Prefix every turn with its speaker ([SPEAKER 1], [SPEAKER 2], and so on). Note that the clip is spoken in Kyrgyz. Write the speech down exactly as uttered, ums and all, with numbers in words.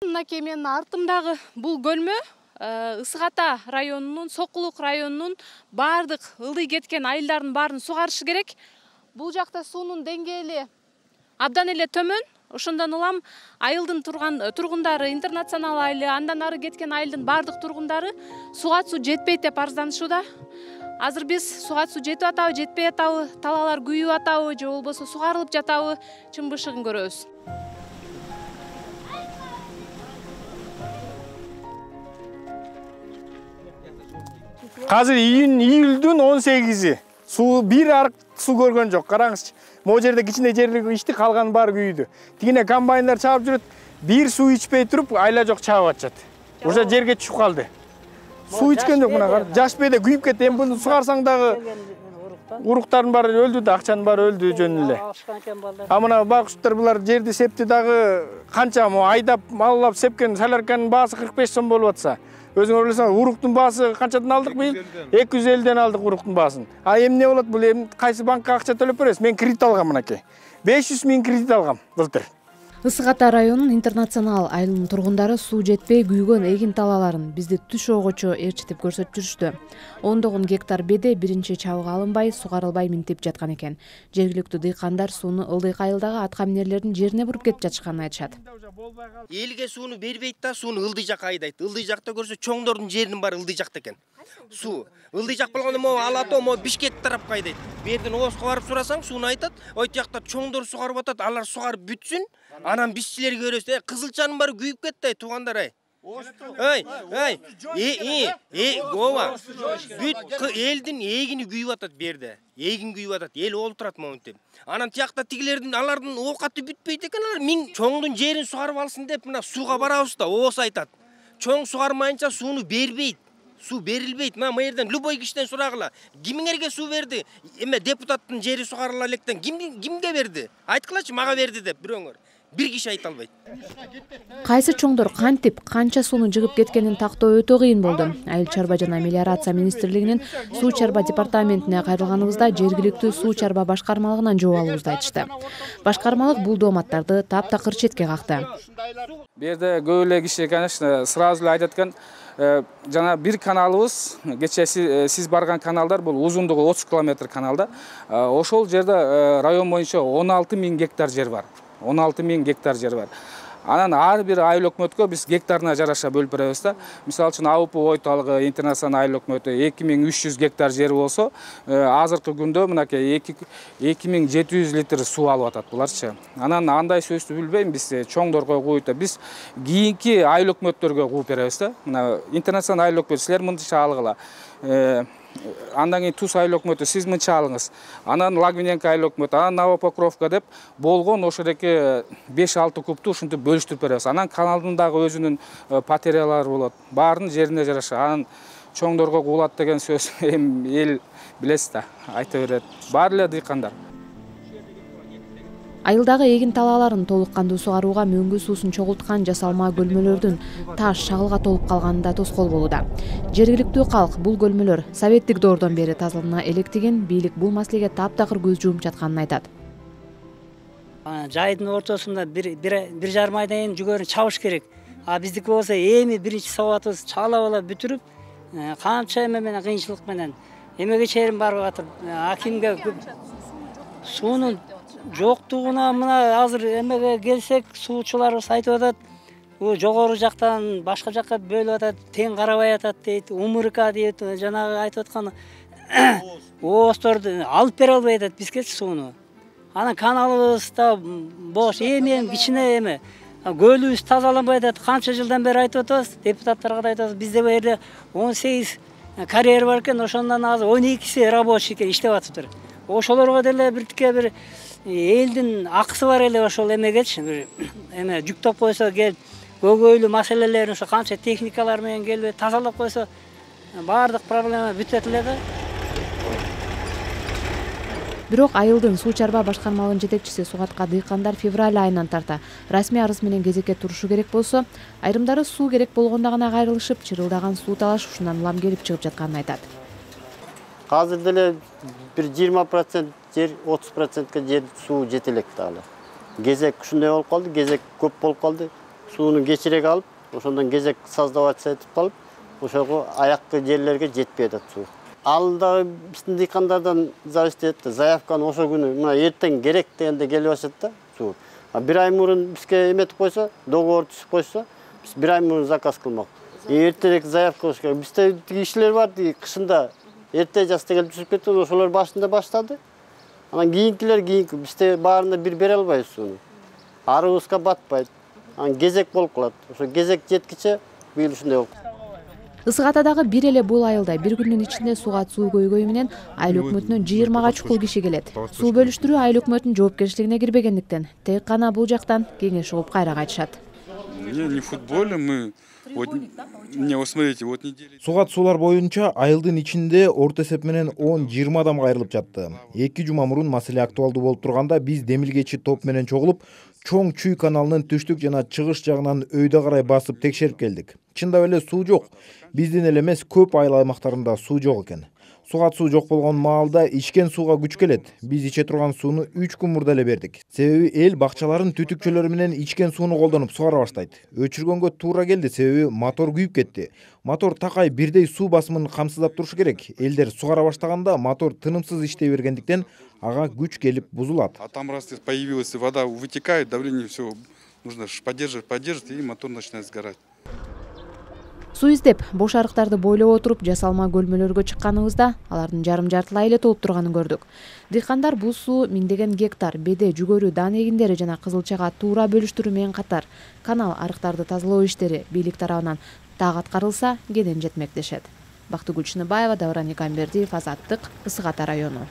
[SPEAKER 1] мынакей менин артымдагы бул көлмө Ысык Ата районунун, Сокулук районунун бардык ылдый кеткен айылдардын баарын сугарышы керек. Бул жакта суунун деңгээли абдан эле төмөн. Ошондон улам айылдын турган тургундары, интернационал айылы, андан ары кеткен айылдын бардык тургундары суга суу жетпейт деп арызданышууда. Азыр биз суга суу жетип атабы, жетпей атабы, талаалар күйүп атабы же болбосо сугарылып жатабы, чын бышыгын көрөбүз.
[SPEAKER 2] Азыр июнь июлдун он сегизи. Суу бир арык суу көргөн жок. Караңызчы. Могу жерде кичине жерлик ичти, калган баары күйдү. Тигине комбайндар чаап жүрөт. Бир суу ичпей туруп, айла жок чаап атышат. Уже жерге түшүп калды. Суу ичкен жок мына кар. Жаш бейде күйүп кетти. Эми буну сугарсаң дагы уруктардын баары өлдү да, акчанын баары өлдү жөн эле. А мына байкуштар булар жерди септи дагы канча мо айдап, маллап сепкен солярканын баасы кырк беш сом болуп атса. Өзүңөр ойлосоңор, уруктун баасы канчадан алдык быйыл? эки жүз элүүдөн алдык уруктун баасын. А эмне болот бул? Эми кайсы банкка акча төлөп беребиз? Мен кредит алгам мынакей. беш жүз миң кредит алгам былтыр.
[SPEAKER 3] Ысык Ата районунун интернационал айылынын тургундары суу жетпей күйгөн эгин талааларын бизди түш огочо ээрчитип көрсөтүп жүрүштү. ондогон гектар беде биринчи чабыга алынбай, сугарылбай минтип жаткан экен. Жергиликтүү дыйкандар сууну ылдый айылдагы атка минерлердин жерине буруп кетип жатышканын айтышат.
[SPEAKER 4] Элге сууну бербейт да, сууну ылдый жакка айдайт. Ылдый жакта көрсө чоңдордун жеринин баары ылдый жакта экен. Суу ылдый жак болгондо могу Алато, могу Бишкек тарапка айдайт. Бу жерден Ооско барып сурасаң, сууну айтат. Ой жакта чоңдор сугарып атат, алар сугарып бүтсүн. Анан бизчилерге көрөсүз, э, кызылчанын баары күйүп кетти, туугандар ай. Эй, эй, э, э, гова. Бүт элдин эгини күйүп атат бу жерде. Эгин күйүп атат, эл олтурат моментте. Анан тиякта тигилердин алардын оокаты бүтпөйт экен, алар миң чоңдун жерин сугарып алсын деп мына сууга барабыз да, Оос айтат. Чоң сугармайынча сууну бербейт. Суу берилбейт. Мына жерден любой кишиден сурагыла. Кимиңерге суу берди? Эме депутаттын жери сугарыла электен ким кимге берди? Айткылачы, мага берди деп бирөөңөр. Бир киши айта албайт.
[SPEAKER 3] Кайсы чоңдор кантип, канча сууну жыгып кеткенин тактоо өтө кыйын болду. Айыл чарба жана мелиорация министрлигинин суу чарба департаментине кайрылганыбызда жергиликтүү суу чарба башкармалыгынан жооп алуубузду айтышты. Башкармалык бул дооматтарды таптакыр четке какты.
[SPEAKER 5] Бу жерде көп эле киши, конечно, сразу эле айтат экен, жана бир каналыбыз, кечээ сиз барган каналдар бул узундугу отуз километр каналда. Ошол жерде район боюнча он алты миң гектар жер бар. он алты миң гектар жер бар. Анан ар бир айыл өкмөткө биз гектарына жараша бөлүп беребиз да. Мисалы үчүн АУП ойталыгы, интернационал айыл өкмөтү эки миң үч жүз гектар жери болсо, азыркы күндө мынакей эки миң жети жүз литр суу алып атат буларчы. Анан андай сөздү билбейм, биз чоңдорго кууйт, биз кийинки айыл өкмөттөргө кууп беребиз да. Мына интернационал айыл өкмөтү силер мынча алгыла. Андан кийин Туз айыл өкмөтү сиз мынча алыңыз. Анан Лагвиненко айыл өкмөтү, анан Новопокровка деп болгон ошодеки беш алты кубту ушинтип бөлүштүрүп беребиз. Анан каналдын дагы өзүнүн потерялары болот. Баарынын жерине жараша. Анан чоңдорго куулат деген сөз эми эл билесиз да, айта берет. Баары эле дыйкандар.
[SPEAKER 3] Айылдагы эгин талааларын толук кандуу сугарууга мөңгү суусун чогулткан жасалма көлмөлөрдүн таш шагылга толуп калганында тоскоол болууда. Жергиликтүү калк бул көлмөлөр советтик доордон бери тазалана электигин, бийлик бул маселеге таптакыр көз жумуп жатканын айтат.
[SPEAKER 6] Жайдын ортосунда бир бир жарым айдан кийин жүгөрү чабыш керек. А биздики болсо эми биринчи сабатыбыз чаалап алып бүтүрүп, канча эме менен кыйынчылык менен эмеге чейин барып атып, акимге суунун жоктугуна мына азыр эмеге келсек, суучуларыбыз айтып атат, бул жогору жактан башка жакка бөлүп атат, тең карабай атат дейт, УМРК дейт, жанагы айтып аткан Оосторду алып бере албай атат бизге сууну. Анан каналыбыз да бош, эми кичине эме көлүбүз тазаланбай атат. Канча жылдан бери айтып атабыз, депутаттарга да айтабыз, бизде бу жерде он сегиз карьер бар экен, ошондон азыр он экиси рабочий экен, иштеп атыптыр. Ошолорго деле биртике бир элдин акысы бар эле ошол эмегечи, бир эме жүктөп койсо келип, көйгөйлүү маселелерин ошо канча техникалар менен келип тазалап койсо, баардык проблема бүтөт эле да.
[SPEAKER 3] Бирок айылдын суу чарба башкармалыгынын жетекчиси Сугатка дыйкандар февраль айынан тарта расмий арыз менен кезекке турушу керек болсо, айрымдары суу керек болгондо гана кайрылышып, чырылдаган суу талаш ушундан улам келип чыгып жатканын айтат.
[SPEAKER 7] Азыр деле бир жыйырма процент жер, отуз процентке жер суу жете электи алы. Кезек ушундай болуп калды, кезек көп болуп калды. сууну кечирээк алып, ошондон кезек создаваться этип калып, ошого аяккы жерлерге жетпей атат суу. Ал дагы биздин дыйкандардан зависит этет да. Заявканы ошо күнү мына эртең керек дегенде келип атат да суу. А бир ай мурун бизге эметип койсо, договор түзүп койсо, биз бир ай мурун заказ кылмак. Эртерээк заявка кылыш керек. Бизде кишилер бар, кышында эрте жаста келип түзүп кетти, ошолор башында баштады. Анан кийинкилер кийинки бизде баарына бир бере албайбыз сууну. Арыбызга батпайт. Анан кезек болуп калат. Ошо кезек жеткиче быйыл ушундай болуп.
[SPEAKER 3] Ысык Атадагы бир эле бул айылда бир күндүн ичинде сууга суу көйгөйү менен айыл өкмөтүнөн жыйырмага чукул киши келет. Суу бөлүштүрүү айыл өкмөтүнүн жоопкерчилигине кирбегендиктен тек гана бул жактан кеңеш угуп кайра кайтышат.
[SPEAKER 8] Не, не футболе мы. Вот, не, вот смотрите, вот неделя.
[SPEAKER 9] Сугат суулар боюнча айылдын ичинде орто эсеп менен он жыйырма адам кайрылып жатты. эки жума мурун маселе актуалдуу болуп турганда биз демилгечи топ менен чогулуп, чоң Чүй каналынын түштүк жана чыгыш жагынан өйдө карай басып текшерип келдик. Чындап эле суу жок. Биздин эле эмес, көп айыл аймактарында суу жок экен. Сугат суу жок болгон маалда ичкен сууга күч келет. Биз иче турган сууну үч күн мурда эле бердик. Себеби эл бакчаларын түтүкчөлөрү менен ичкен сууну колдонуп сугара баштайт. Өчүргөнгө туура келди, себеби мотор күйүп кетти. Мотор такай бирдей суу басымын камсыздап турушу керек. Элдер сугара баштаганда мотор тынымсыз иштей бергендиктен ага күч келип бузулат.
[SPEAKER 8] А там раз появилась вода, вытекает, давление все нужно поддерживать, поддерживать, и мотор начинает сгорать.
[SPEAKER 3] Суу издеп, бош арыктарды бойлоп отуруп жасалма көлмөлөргө чыкканыбызда алардын жарым жартылай эле толуп турганын көрдүк. Дыйкандар бул суу миңдеген гектар беде, жүгөрү, дан эгиндери жана кызылчага туура бөлүштүрүү менен катар канал арыктарды тазалоо иштери бийлик тарабынан так аткарылса кенен жетмек дешет. Бактыгүл Чыныбаева, Давран Никамбердиев, Азаттык, Ысык Ата району.